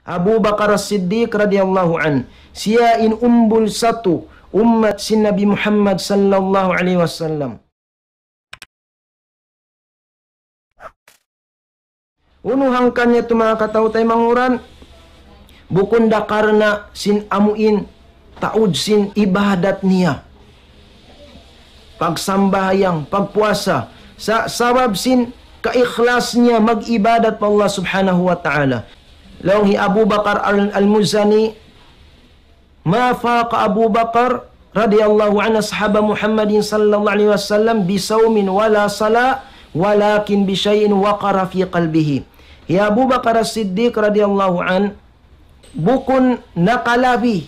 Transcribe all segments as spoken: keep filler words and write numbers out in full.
Abu Bakar As-Siddiq radiyallahu anhu. Siya in umbul satu ummat sin Nabi Muhammad sallallahu alayhi wasallam. Unu hangkan niya tu manga kataw-taymanghuran, bukun da karna' sin amuin taud sin ibadat niya. Pagsambahayang, pagpuasa, sa-, sabab sin kaikhlas niya mag-ibadat pa Allah Subhanahu wa Ta'ala. Laung hi Abu Bakar Al-, Al-Muzani, ما فاق أبو بكر رضي الله عنه أصحاب محمد صلى الله عليه وسلم بصوم ولا صلاة ولكن بشيء وقر في قلبه. Hi Abu Bakar As-Siddiq radiyallahu anhu, bukun nakalabi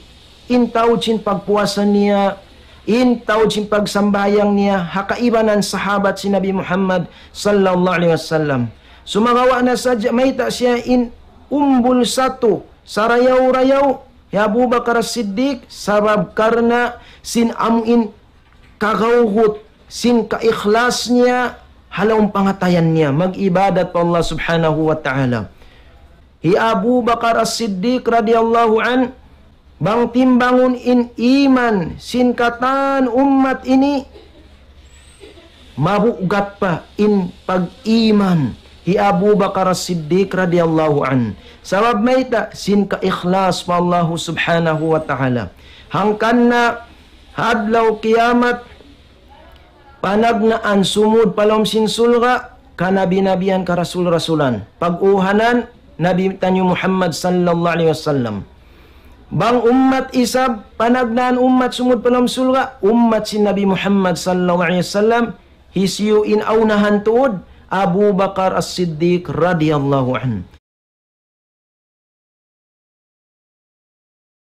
in taud sin pagpuasa niya, in taud sin pagsambahayang niya, ha kaibanan sahabat sin Nabi Muhammad sallallahu alayhi wasallam. Sumagawa' na sadja mayta' siya in umbul satu, sarayaw-rayaw, hi Abu Bakar As-Siddiq, sabab karna' sin amuin kagawgut, sin kaikhlas niya, ha lawm pangatayan niya, mag-ibadat pa Allah Subhanahu wa Ta'ala. Hi Abu Bakar As-Siddiq radiyallahu anhu, bang timbangun in iman sin katan ummat ini, mabugat pa in pag-iman hi Abu Bakar As-Siddiq radiyallahu anhu. Sabab mayta', sin kaikhlas pa Allahu Subhanahu wa Ta'ala. Hangkan na ha adlaw kiyamat, panagnaan sumud pa lawm sin surga', kanabi-nabihan, karasul-rasulan. Pag-uhanan, Nabi taniyu Muhammad sallallahu alayhi wasallam. Bang ummat isab, panagnaan ummat sumud pa lawm surga', ummat sin Nabi Muhammad sallallahu alayhi wasallam, hisiyu in aunahan tuud, Abu Bakar As-Siddiq radiyallahu anhu.